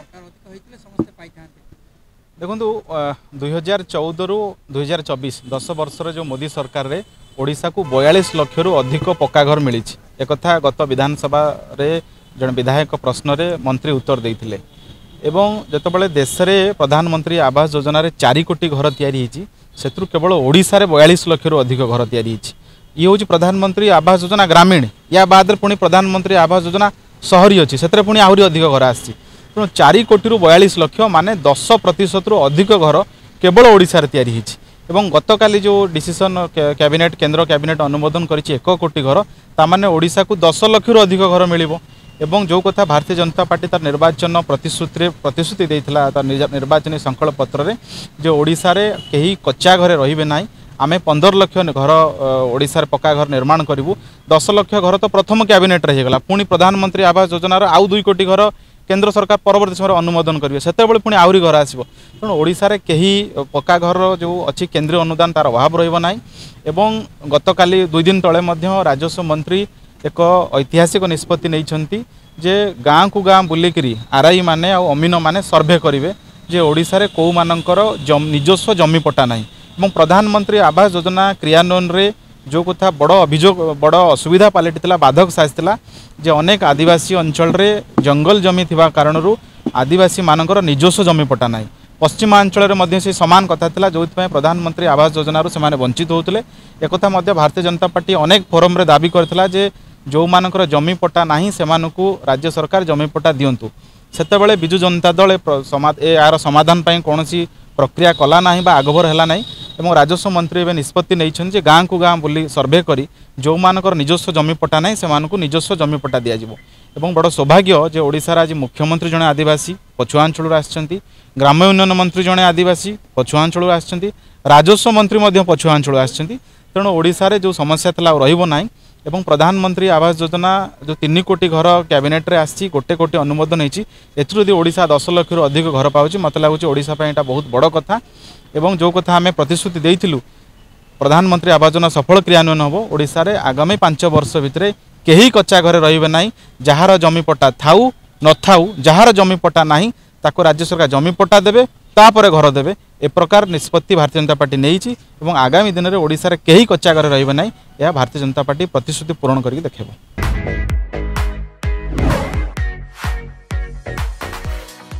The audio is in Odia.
ସରକାର ଅଧିକ ହେଇଥିଲେ ସମସ୍ତେ ପାଇଥାନ୍ତେ। ଦେଖନ୍ତୁ, 2014ରୁ 2024, 10 ବର୍ଷର ଯେଉଁ ମୋଦି ସରକାରରେ ଓଡ଼ିଶାକୁ 42 ଲକ୍ଷରୁ ଅଧିକ ପକ୍କା ଘର ମିଳିଛି। ଏକଥା ଗତ ବିଧାନସଭାରେ ଜଣେ ବିଧାୟକ ପ୍ରଶ୍ନରେ ମନ୍ତ୍ରୀ ଉତ୍ତର ଦେଇଥିଲେ। ଏବଂ ଯେତେବେଳେ ଦେଶରେ ପ୍ରଧାନମନ୍ତ୍ରୀ ଆବାସ ଯୋଜନାରେ 4 କୋଟି ଘର ତିଆରି ହେଇଛି, ସେଥିରୁ କେବଳ ଓଡ଼ିଶାରେ 42 ଲକ୍ଷରୁ ଅଧିକ ଘର ତିଆରି ହେଇଛି। ଇଏ ହେଉଛି ପ୍ରଧାନମନ୍ତ୍ରୀ ଆବାସ ଯୋଜନା ଗ୍ରାମୀଣ। ୟା ବାଦରେ ପୁଣି ପ୍ରଧାନମନ୍ତ୍ରୀ ଆବାସ ଯୋଜନା ସହରୀ ଅଛି, ସେଥିରେ ପୁଣି ଆହୁରି ଅଧିକ ଘର ଆସିଛି। ତେଣୁ 4 କୋଟିରୁ 42 ଲକ୍ଷ ମାନେ 10%ରୁ ଅଧିକ ଘର କେବଳ ଓଡ଼ିଶାରେ ତିଆରି ହେଇଛି। ଏବଂ ଗତକାଲି ଯେଉଁ ଡିସିସନ୍ କ୍ୟାବିନେଟ୍, କେନ୍ଦ୍ର କ୍ୟାବିନେଟ୍ ଅନୁମୋଦନ କରିଛି 1 କୋଟି ଘର, ତାମାନେ ଓଡ଼ିଶାକୁ 10 ଲକ୍ଷରୁ ଅଧିକ ଘର ମିଳିବ। ଏବଂ ଯେଉଁ କଥା ଭାରତୀୟ ଜନତା ପାର୍ଟି ତାର ନିର୍ବାଚନ ପ୍ରତିଶ୍ରୁତିରେ ପ୍ରତିଶ୍ରୁତି ଦେଇଥିଲା, ତାର ନିର୍ବାଚନୀ ସଂକଳ୍ପ ପତ୍ରରେ, ଯେ ଓଡ଼ିଶାରେ କେହି କଚ୍ଚା ଘରେ ରହିବେ ନାହିଁ, ଆମେ 15 ଲକ୍ଷ ଘର ଓଡ଼ିଶାରେ ପକ୍କା ଘର ନିର୍ମାଣ କରିବୁ। 10 ଲକ୍ଷ ଘର ତ ପ୍ରଥମ କ୍ୟାବିନେଟ୍ରେ ହେଇଗଲା। ପୁଣି ପ୍ରଧାନମନ୍ତ୍ରୀ ଆବାସ ଯୋଜନାର ଆଉ 2 କୋଟି ଘର କେନ୍ଦ୍ର ସରକାର ପରବର୍ତ୍ତୀ ସମୟରେ ଅନୁମୋଦନ କରିବେ, ସେତେବେଳେ ପୁଣି ଆହୁରି ଘର ଆସିବ। ତେଣୁ ଓଡ଼ିଶାରେ କେହି ପକ୍କା ଘରର ଯେଉଁ ଅଛି କେନ୍ଦ୍ରୀୟ ଅନୁଦାନ, ତାର ଅଭାବ ରହିବ ନାହିଁ। ଏବଂ ଗତକାଲି 2 ଦିନ ତଳେ ମଧ୍ୟ ରାଜସ୍ୱ ମନ୍ତ୍ରୀ ଏକ ଐତିହାସିକ ନିଷ୍ପତ୍ତି ନେଇଛନ୍ତି ଯେ ଗାଁକୁ ଗାଁ ବୁଲିକିରି ଆର୍ଆଇ ମାନେ ଆଉ ଅମିନ ମାନେ ସର୍ଭେ କରିବେ ଯେ ଓଡ଼ିଶାରେ କେଉଁମାନଙ୍କର ନିଜସ୍ୱ ଜମି ପଟ୍ଟା ନାହିଁ। ଏବଂ ପ୍ରଧାନମନ୍ତ୍ରୀ ଆବାସ ଯୋଜନା କ୍ରିୟାନ୍ୱୟନରେ ଯେଉଁ କଥା ବଡ଼ ଅଭିଯୋଗ, ବଡ଼ ଅସୁବିଧା ପାଲଟିଥିଲା, ବାଧକ ସାଜିଥିଲା ଯେ ଅନେକ ଆଦିବାସୀ ଅଞ୍ଚଳରେ ଜଙ୍ଗଲ ଜମି ଥିବା କାରଣରୁ ଆଦିବାସୀମାନଙ୍କର ନିଜସ୍ୱ ଜମି ପଟ୍ଟା ନାହିଁ। ପଶ୍ଚିମାଞ୍ଚଳରେ ମଧ୍ୟ ସେ ସମାନ କଥା ଥିଲା, ଯେଉଁଥିପାଇଁ ପ୍ରଧାନମନ୍ତ୍ରୀ ଆବାସ ଯୋଜନାରୁ ସେମାନେ ବଞ୍ଚିତ ହେଉଥିଲେ। ଏକଥା ମଧ୍ୟ ଭାରତୀୟ ଜନତା ପାର୍ଟି ଅନେକ ଫୋରମ୍ରେ ଦାବି କରିଥିଲା ଯେ ଯେଉଁମାନଙ୍କର ଜମି ପଟ୍ଟା ନାହିଁ ସେମାନଙ୍କୁ ରାଜ୍ୟ ସରକାର ଜମି ପଟ୍ଟା ଦିଅନ୍ତୁ। ସେତେବେଳେ ବିଜୁ ଜନତା ଦଳ ଏହାର ସମାଧାନ ପାଇଁ କୌଣସି ପ୍ରକ୍ରିୟା କଲା ନାହିଁ ବା ଆଗଭର ହେଲା ନାହିଁ। ଏବଂ ରାଜସ୍ୱ ମନ୍ତ୍ରୀ ଏବେ ନିଷ୍ପତ୍ତି ନେଇଛନ୍ତି ଯେ ଗାଁକୁ ଗାଁ ବୁଲି ସର୍ଭେ କରି ଯେଉଁମାନଙ୍କର ନିଜସ୍ୱ ଜମି ପଟ୍ଟା ନାହିଁ ସେମାନଙ୍କୁ ନିଜସ୍ୱ ଜମି ପଟ୍ଟା ଦିଆଯିବ। ଏବଂ ବଡ଼ ସୌଭାଗ୍ୟ ଯେ ଓଡ଼ିଶାର ଆଜି ମୁଖ୍ୟମନ୍ତ୍ରୀ ଜଣେ ଆଦିବାସୀ ପଛୁଆ ଅଞ୍ଚଳରୁ ଆସିଛନ୍ତି, ଗ୍ରାମ୍ୟ ଉନ୍ନୟନ ମନ୍ତ୍ରୀ ଜଣେ ଆଦିବାସୀ ପଛୁଆ ଅଞ୍ଚଳରୁ ଆସିଛନ୍ତି, ରାଜସ୍ୱ ମନ୍ତ୍ରୀ ମଧ୍ୟ ପଛୁଆ ଅଞ୍ଚଳରୁ ଆସିଛନ୍ତି। ତେଣୁ ଓଡ଼ିଶାରେ ଯେଉଁ ସମସ୍ୟା ଥିଲା ଆଉ ରହିବ ନାହିଁ। ଏବଂ ପ୍ରଧାନମନ୍ତ୍ରୀ ଆବାସ ଯୋଜନା ଯେଉଁ 3 କୋଟି ଘର କ୍ୟାବିନେଟ୍ରେ ଆସିଛି, 1 କୋଟି ଅନୁମୋଦନ ହେଇଛି, ଏଥିରୁ ଯଦି ଓଡ଼ିଶା 10 ଲକ୍ଷରୁ ଅଧିକ ଘର ପାଉଛି, ମୋତେ ଲାଗୁଛି ଓଡ଼ିଶା ପାଇଁ ଏଇଟା ବହୁତ ବଡ଼ କଥା। ଏବଂ ଯେଉଁ କଥା ଆମେ ପ୍ରତିଶ୍ରୁତି ଦେଇଥିଲୁ, ପ୍ରଧାନମନ୍ତ୍ରୀ ଆବାସ ଯୋଜନା ସଫଳ କ୍ରିୟାନ୍ୱୟନ ହେବ, ଓଡ଼ିଶାରେ ଆଗାମୀ 5 ବର୍ଷ ଭିତରେ କେହି କଚ୍ଚା ଘରେ ରହିବେ ନାହିଁ। ଯାହାର ଜମି ପଟ୍ଟା ଥାଉ ନଥାଉ, ଯାହାର ଜମି ପଟ୍ଟା ନାହିଁ ତାକୁ ରାଜ୍ୟ ସରକାର ଜମି ପଟ୍ଟା ଦେବେ, ତାପରେ ଘର ଦେବେ। ଏ ପ୍ରକାର ନିଷ୍ପତ୍ତି ଭାରତୀୟ ଜନତା ପାର୍ଟି ନେଇଛି ଏବଂ ଆଗାମୀ ଦିନରେ ଓଡ଼ିଶାରେ କେହି କଚ୍ଚା ଘରେ ରହିବେ ନାହିଁ, ଏହା ଭାରତୀୟ ଜନତା ପାର୍ଟି ପ୍ରତିଶ୍ରୁତି ପୂରଣ କରିକି ଦେଖାଇବ।